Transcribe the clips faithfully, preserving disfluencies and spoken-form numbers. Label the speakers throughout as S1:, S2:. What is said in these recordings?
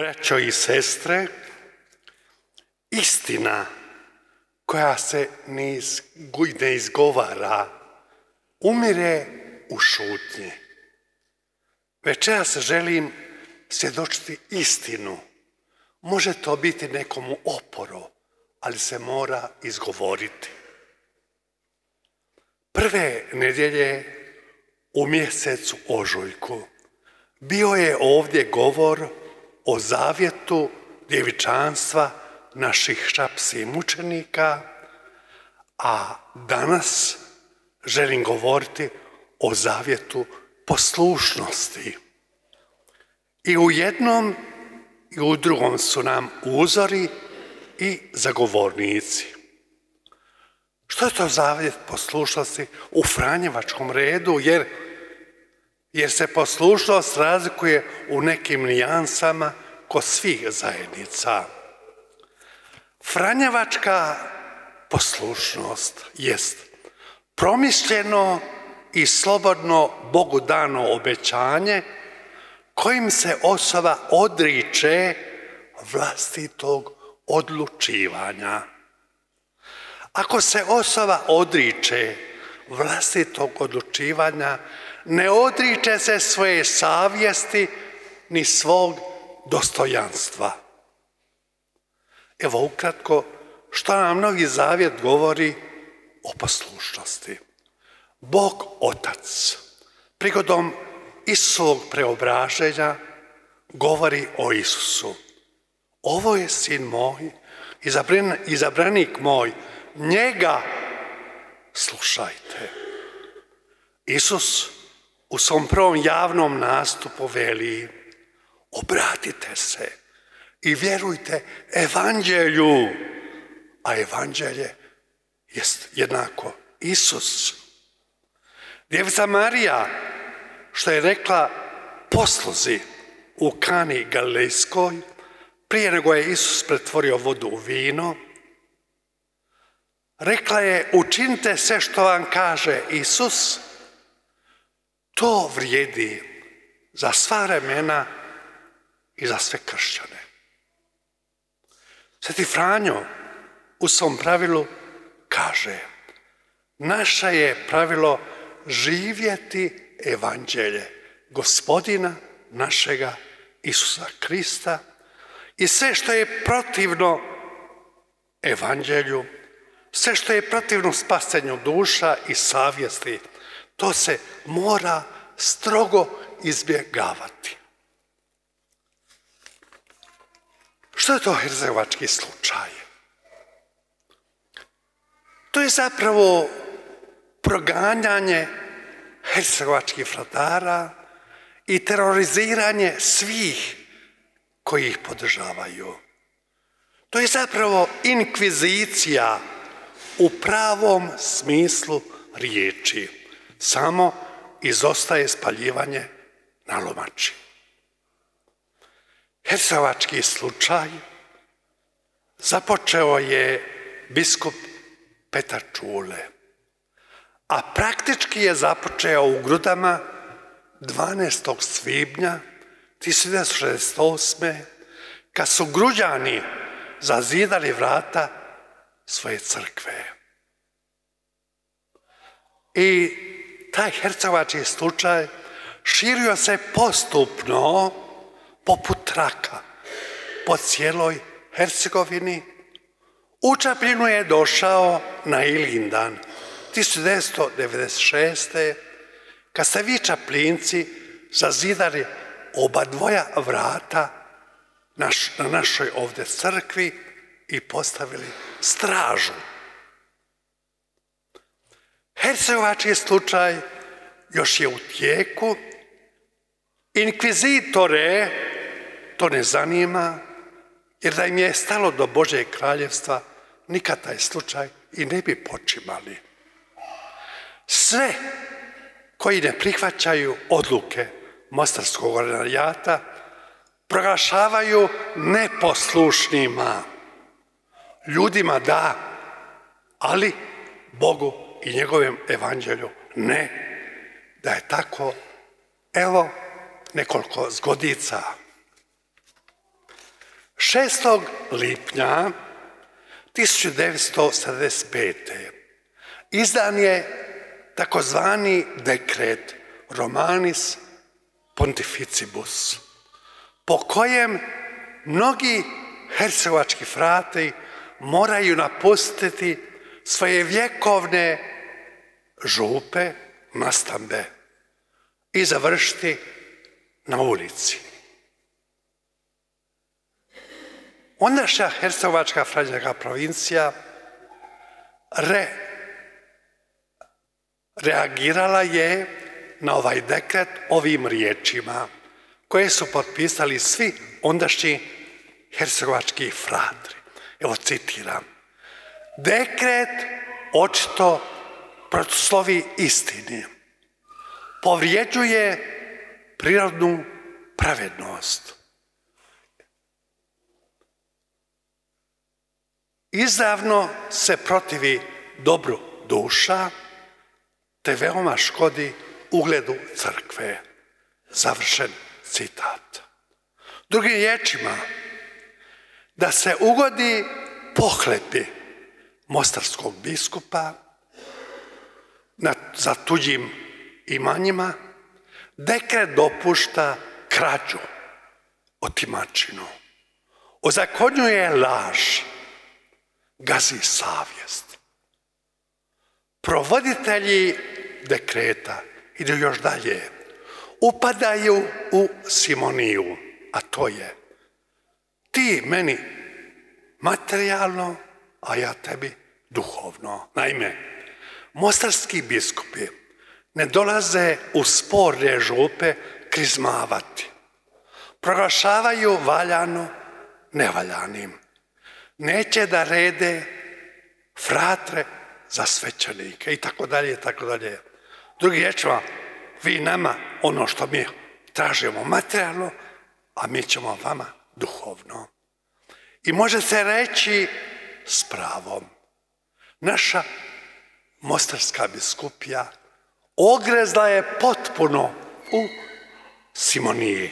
S1: Braćo i sestre, istina koja se ne izgovara umire u šutnji. Večeras želim svjedočiti istinu. Može to biti nekomu oporo, ali se mora izgovoriti. Prve nedjelje u mjesecu ožujku bio je ovdje govor o zavjetu djevičanstva naših šapskih mučenika, a danas želim govoriti o zavjetu poslušnosti. I u jednom i u drugom su nam uzori i zagovornici. Što je to zavjet poslušnosti u franjevačkom redu, jer, jer se poslušnost razlikuje u nekim nijansama kod svih zajednica. Franjevačka poslušnost jest promišljeno i slobodno Bogu dano obećanje kojim se osoba odriče vlastitog odlučivanja. Ako se osoba odriče vlastitog odlučivanja, ne odriče se svoje savjesti ni svog dostojanstva. Evo ukratko što nam Novi Zavjet govori o poslušnosti. Bog Otac prigodom Isusovog preobraženja govori o Isusu. Ovo je sin moj, izabran, izabranik moj, njega slušajte. Isus u svom prvom javnom nastupu veli: obratite se i vjerujte evanđelju, a evanđelje jest jednako Isus. Djevica Marija, što je rekla posluzi u Kani Galilejskoj, prije nego je Isus pretvorio vodu u vino, rekla je: učinite sve što vam kaže Isus. To vrijedi za sva vremena i za sve kršćane. Sveti Franjo u svom pravilu kaže: naše je pravilo živjeti evanđelje Gospodina našega Isusa Krista i sve što je protivno evanđelju, sve što je protivno spasenju duša i savjesti, to se mora strogo izbjegavati. Što je to hercegovački slučaj? To je zapravo proganjanje hercegovačkih vladara i teroriziranje svih koji ih podržavaju. To je zapravo inkvizicija u pravom smislu riječi. Samo izostaje spaljivanje na lomači. Hercegovački slučaj započeo je biskup Petar Čule, a praktički je započeo u Grudama dvanaestog svibnja tisuću devetsto šezdeset osme. kad su Gruđani zazidali vrata svoje crkve. I taj hercegovački slučaj širio se postupno poput traka po cijeloj Hercegovini. U Čapljinu je došao na Ilindan tisuću devetsto devedeset šeste. kad ste vi Čapljinci zazidali oba dvoja vrata naš, na našoj ovdje crkvi i postavili stražu. Hercegovački slučaj još je u tijeku. Inkvizitore to ne zanima, jer da im je stalo do Božjeg kraljevstva, nikad taj slučaj i ne bi počimali. Sve koji ne prihvaćaju odluke Mostarskog ordinarijata proglašavaju neposlušnima. Ljudima da, ali Bogu i njegovom evanđelju ne. Da je tako, evo nekoliko zgodica. šestog lipnja tisuću devetsto sedamdeset pete. izdan je takozvani dekret Romanis Pontificibus, po kojem mnogi hercegovački frati moraju napustiti svoje vjekovne župe, nastambe i završiti na ulici. Ondašnja hercegovačka franjevačka provincija re, reagirala je na ovaj dekret ovim riječima koje su potpisali svi ondašnji hercegovački fratri. Evo citiram. Dekret očito protislovi istini, povrijeđuje prirodnu pravednost, izravno se protivi dobru duša, te veoma škodi ugledu crkve. Završen citat. Drugim riječima, da se ugodi pohlepi mostarskog biskupa na, za tuđim imanjima, dekret dopušta krađu, otimačinu, ozakonjuje laž, gazi savjest. Provoditelji dekreta idu još dalje, upadaju u simoniju, a to je ti meni materijalno, a ja tebi duhovno. Naime, mostarski biskupi ne dolaze u sporne župe krizmavati. Proglašavaju valjano nevaljanim. Neće da rede fratre za svećenike i tako dalje i tako dalje. Drugi riječima, vi nama ono što mi tražimo materijalno, a mi ćemo vama duhovno. I može se reći s pravom, naša mostarska biskupija ogrezla je potpuno u simoniji.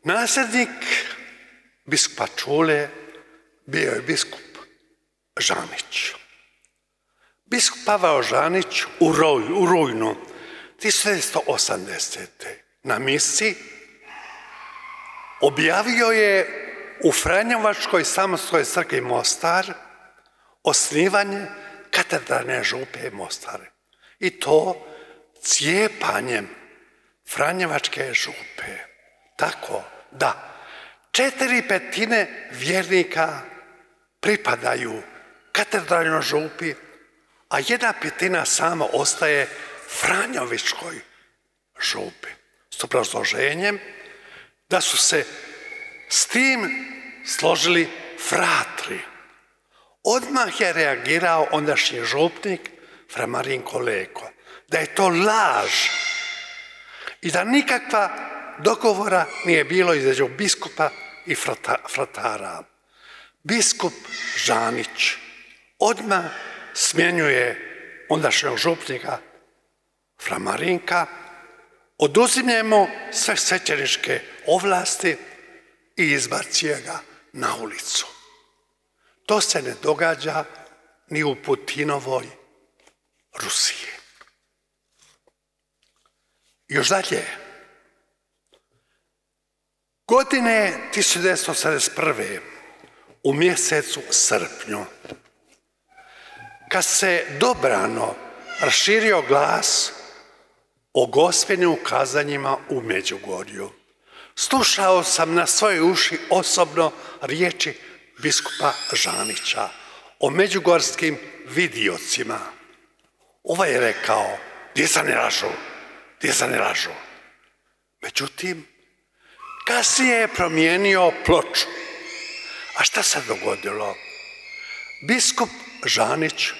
S1: Nasljednik biskupa Čule bio je biskup Žanić. Biskup Pavao Žanić u, roj, u rujnu tisuću devetsto osamdesete. na misi objavio je u Franjevačkoj samostalnoj crkvi Mostar osnivanje katedralne župe Mostar. I to cijepanjem Franjevačke župe. Tako da četiri petine vjernika pripadaju katedralnoj župi, a jedna petina samo ostaje Franjevačkoj župi. S obrazloženjem da su se s tim složili fratri. Odmah je reagirao ondašnji župnik fra Marinko Leko, da je to laž i da nikakva dogovora nije bilo između biskupa i fratara. Biskup Žanić odmah smjenjuje ondašnjeg župnika fra Marinka, oduzimlje mu sve svećeničke ovlasti i izbacuje ga na ulicu. To se ne događa ni u Putinovoj Rusiji. Još dalje, godine tisuću devetsto osamdeset prve u mjesecu srpnju, kad se dobrano raširio glas o Gospinim ukazanjima u Međugorju, slušao sam na svoje uši osobno riječi biskupa Žanića o međugorskim vidiocima. Ovaj je rekao, djeca ne lažu, djeca ne lažu. Međutim, kasnije je promijenio ploču. A šta se dogodilo? Biskup Žanić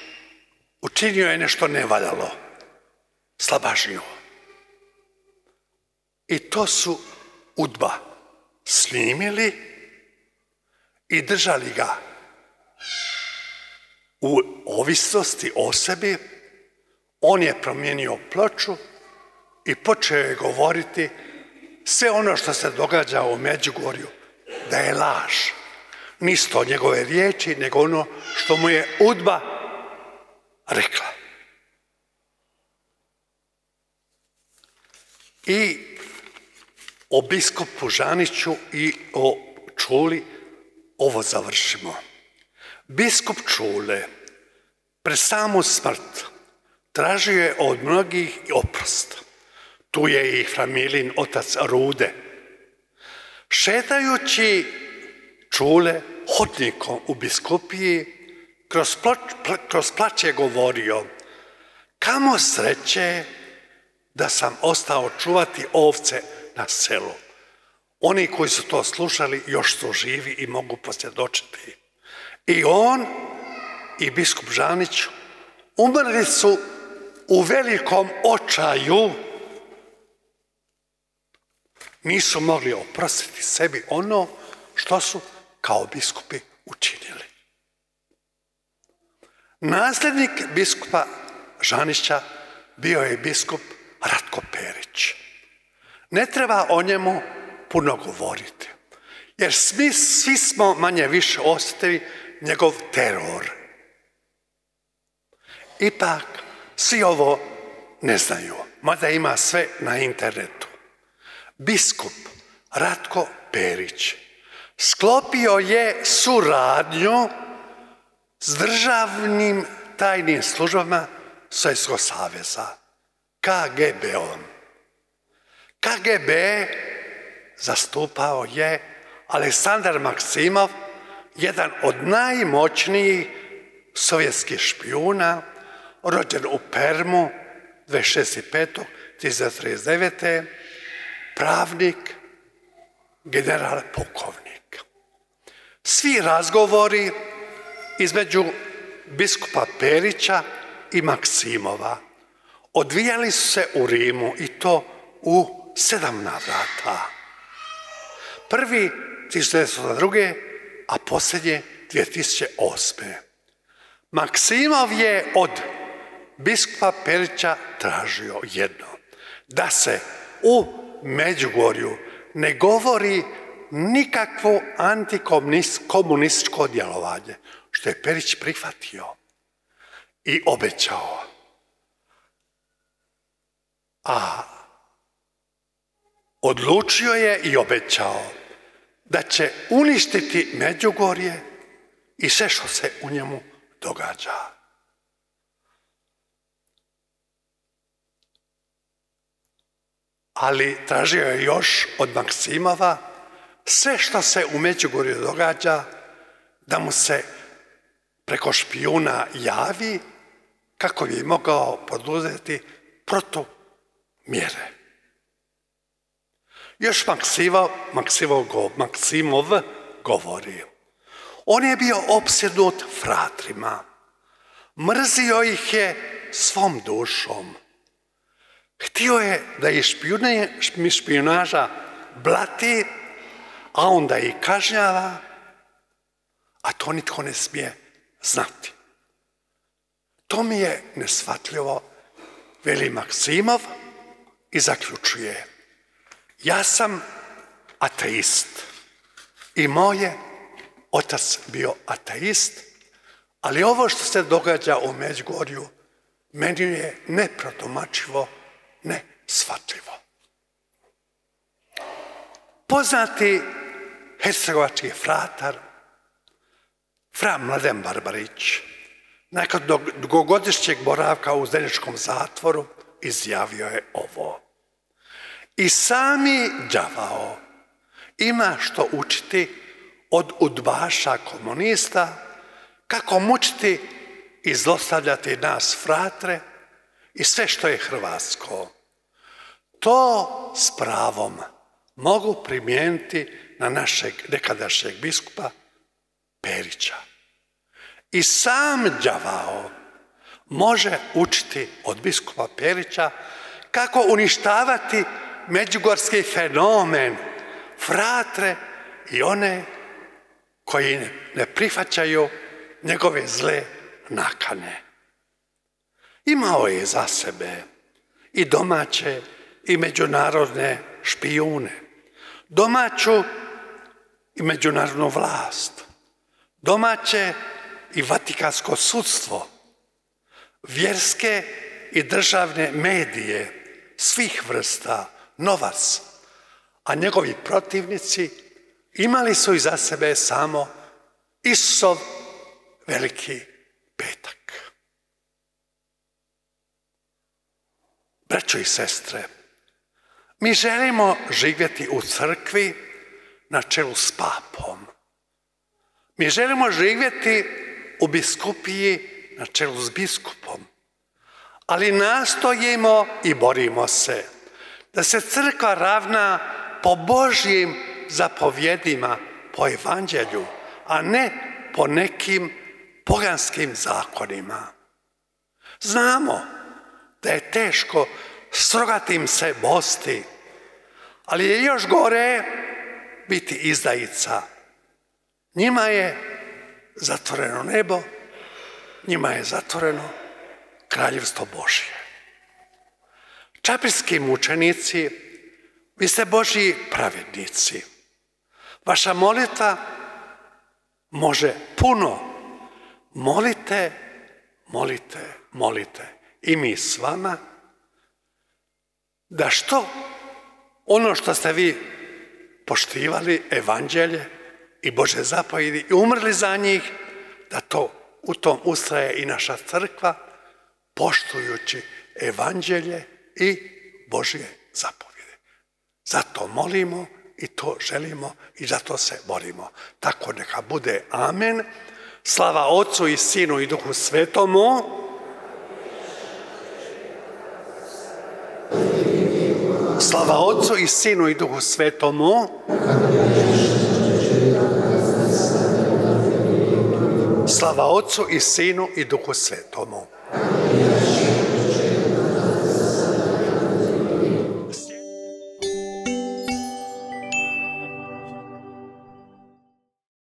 S1: učinio je nešto nevaljalo, slabažnju. I to su UDBA snimili i držali ga u ovisnosti o sebi. On je promijenio ploču i počeo je govoriti sve ono što se događa u Međugorju, da je laž. Nisu to njegove riječi, nego ono što mu je UDBA rekla. I o biskupu Žaniću i o Čuli ovo završimo. Biskup Čule pred samu smrt tražio je od mnogih oprost. Tu je i Framilin otac Rude. Šetajući Čule hodnikom u biskupiji, kroz, ploč, kroz plač je govorio: kamo sreće da sam ostao čuvati ovce na selu. Oni koji su to slušali još su živi i mogu posvjedočiti. I on i biskup Žanić umrli su u velikom očaju. Nisu mogli oprostiti sebi ono što su kao biskupi učinili. Nasljednik biskupa Žanića bio je biskup Ratko Perić. Ne treba o njemu puno govoriti, jer svi, svi smo manje više osjetili njegov teror. Ipak, svi ovo ne znaju, mada ima sve na internetu. Biskup Ratko Perić sklopio je suradnju s državnim tajnim službama Sovjetskog saveza, K G B-om. K G B zastupao je Aleksandar Maksimov, jedan od najmoćnijih sovjetskih špijuna, rođen u Permu dvadeset šestog petog tisuće devetsto trideset devete. pravnik, general pukovnik. Svi razgovori između biskupa Perića i Maksimova odvijali su se u Rimu i to u sedam navrata. Prvi tisuće devetsto druge. a posljednje dvije tisuće osme. Maksimov je od biskupa Perića tražio jedno, da se u Međugorju ne govori nikakvo antikomunističko djelovanje, što je Perić prihvatio i obećao. A odlučio je i obećao da će uništiti Međugorje i sve što se u njemu događa. Ali tražio je još od Maksimova sve što se u Međugorju događa, da mu se preko špijuna javi kako bi mogao poduzeti protumjere. Još Maksimov, Maksimov, Maksimov govori. On je bio opsjednut fratrima. Mrzio ih je svom dušom. Htio je da ih špijunaža blati, a onda ih kažnjava, a to nitko ne smije znati. To mi je neshvatljivo, veli Maksimov i zaključuje. Ja sam ateist i moj je otac bio ateist, ali ovo što se događa u Međugorju meni je neprotumačivo, neshvatljivo. Poznati hercegovački fratar fra Mladen Barbarić nakon dugogodišnjeg boravka u Zeničkom zatvoru izjavio je ovo. I sami đavao ima što učiti od udbaša komunista, kako mučiti i zlostavljati nas fratre i sve što je hrvatsko. To s pravom mogu primijeniti na našeg nekadašnjeg biskupa Perića. I sam đavao može učiti od biskupa Perića kako uništavati međugorski fenomen, fratre i one koji ne prihvaćaju njegove zle nakane. Imao je za sebe i domaće i međunarodne špijune, domaću i međunarodnu vlast, domaće i vatikansko sudstvo, vjerske i državne medije svih vrsta, novac, a njegovi protivnici imali su iza sebe samo Isusov veliki petak. Braćo i sestre, mi želimo živjeti u crkvi na čelu s papom. Mi želimo živjeti u biskupiji na čelu s biskupom. Ali nastojimo i borimo se da se crkva ravna po Božjim zapovjedima, po evanđelju, a ne po nekim poganskim zakonima. Znamo da je teško s rogatim se bosti, ali je još gore biti izdajica. Njima je zatvoreno nebo, njima je zatvoreno kraljevstvo Božje. Čapljski mučenici, vi ste Božji pravednici. Vaša molitva može puno. Molite, molite, molite. I mi s vama, da što ono što ste vi poštivali, evanđelje i Božje zapovjedi i umrli za njih, da to u tom ustraje i naša crkva, poštujući evanđelje i Božje zapovjede. Zato molimo i to želimo i zato se borimo. Tako neka bude. Amen. Slava Otcu i Sinu i Duhu Svetomu. Slava Otcu i Sinu i Duhu Svetomu. Slava Otcu i Sinu i Duhu Svetomu.